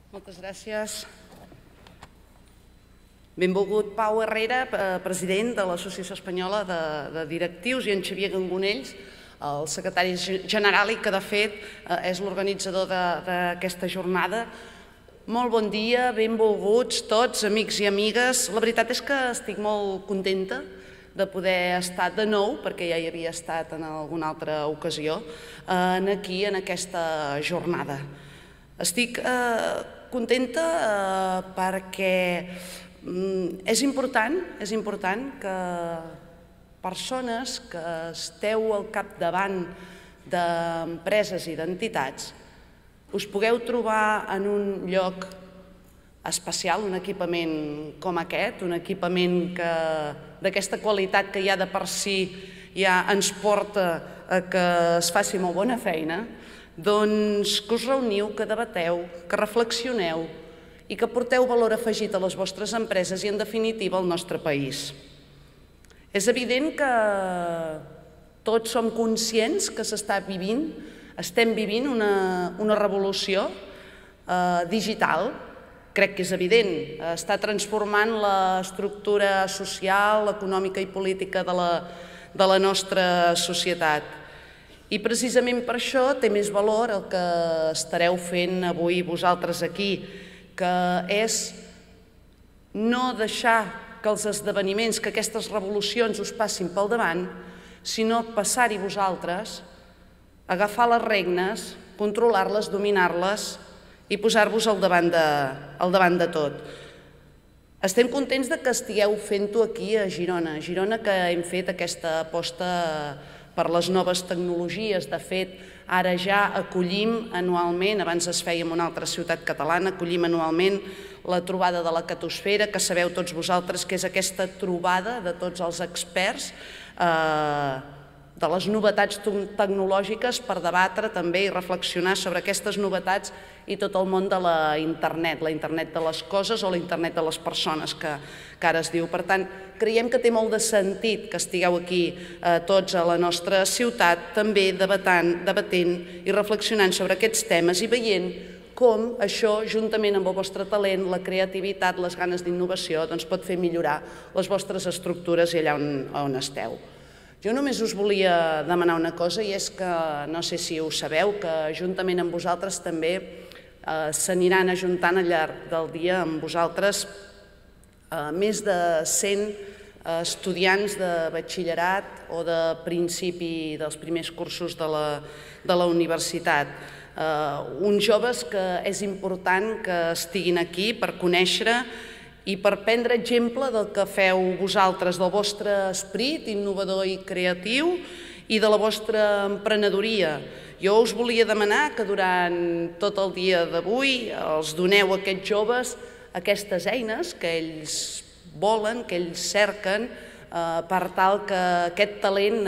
Moltes gràcies. Benvolgut Pau Herrera, president de l'Associació Espanyola de Directius, i en Xavier Gangonells, el secretari general i que, de fet, és l'organitzador d'aquesta jornada. Molt bon dia, benvolguts tots, amics i amigues. La veritat és que estic molt contenta de poder estar de nou, perquè ja hi havia estat en alguna altra ocasió, aquí en aquesta jornada. Estic contenta perquè és important que persones que esteu al capdavant d'empreses i d'entitats us pugueu trobar en un lloc especial, un equipament com aquest, un equipament d'aquesta qualitat que ja de per si ja ens porta a que es faci molt bona feina, doncs que us reuniu, que debateu, que reflexioneu i que porteu valor afegit a les vostres empreses i, en definitiva, al nostre país. És evident que tots som conscients que estem vivint una revolució digital. Crec que és evident, està transformant l'estructura social, econòmica i política de la nostra societat. I precisament per això té més valor el que estareu fent avui vosaltres aquí, que és no deixar que els esdeveniments, que aquestes revolucions us passin pel davant, sinó passar-hi vosaltres, agafar les regnes, controlar-les, dominar-les i posar-vos al davant de tot. Estem contents que estigueu fent-ho aquí a Girona. A Girona, que hem fet aquesta aposta per les noves tecnologies. De fet, ara ja acollim anualment, abans es feia en una altra ciutat catalana, acollim anualment la trobada de la Catosfera, que sabeu tots vosaltres que és aquesta trobada de tots els experts de les novetats tecnològiques per debatre també i reflexionar sobre aquestes novetats i tot el món de la internet de les coses o la internet de les persones, que ara es diu. Per tant, creiem que té molt de sentit que estigueu aquí tots a la nostra ciutat, també debatent i reflexionant sobre aquests temes i veient com això, juntament amb el vostre talent, la creativitat, les ganes d'innovació, pot fer millorar les vostres estructures i allà on esteu. Jo només us volia demanar una cosa, i és que, no sé si ho sabeu, que juntament amb vosaltres també s'aniran ajuntant al llarg del dia amb vosaltres més de 100 estudiants de batxillerat o de principi dels primers cursos de la universitat. Uns joves que és important que estiguin aquí per conèixer i per prendre exemple del que feu vosaltres, del vostre esperit innovador i creatiu i de la vostra emprenedoria. Jo us volia demanar que durant tot el dia d'avui els doneu a aquests joves aquestes eines que ells volen, que ells cerquen, per tal que aquest talent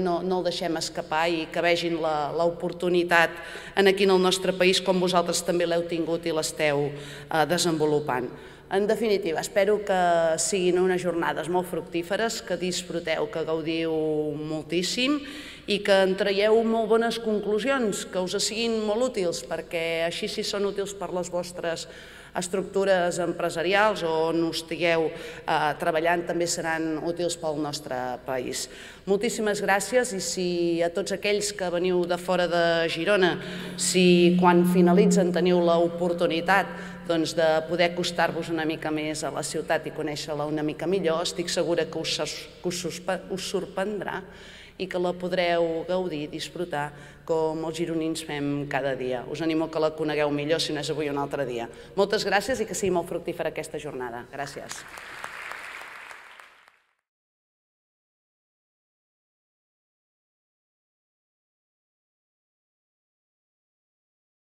no el deixem escapar i que vegin l'oportunitat aquí en el nostre país com vosaltres també l'heu tingut i l'esteu desenvolupant. En definitiva, espero que siguin unes jornades molt fructíferes, que disfruteu, que gaudiu moltíssim i que en traieu molt bones conclusions, que us siguin molt útils, perquè així, si són útils per les vostres estructures empresarials o on estigueu treballant, també seran útils pel nostre país. Moltíssimes gràcies, i si a tots aquells que veniu de fora de Girona, si quan finalitzen teniu l'oportunitat de poder acostar-vos una mica més a la ciutat i conèixer-la una mica millor, estic segura que us sorprendrà i que la podreu gaudir, disfrutar, com els gironins fem cada dia. Us animo que la conegueu millor, si no és avui un altre dia. Moltes gràcies i que sigui molt fructífera aquesta jornada. Gràcies.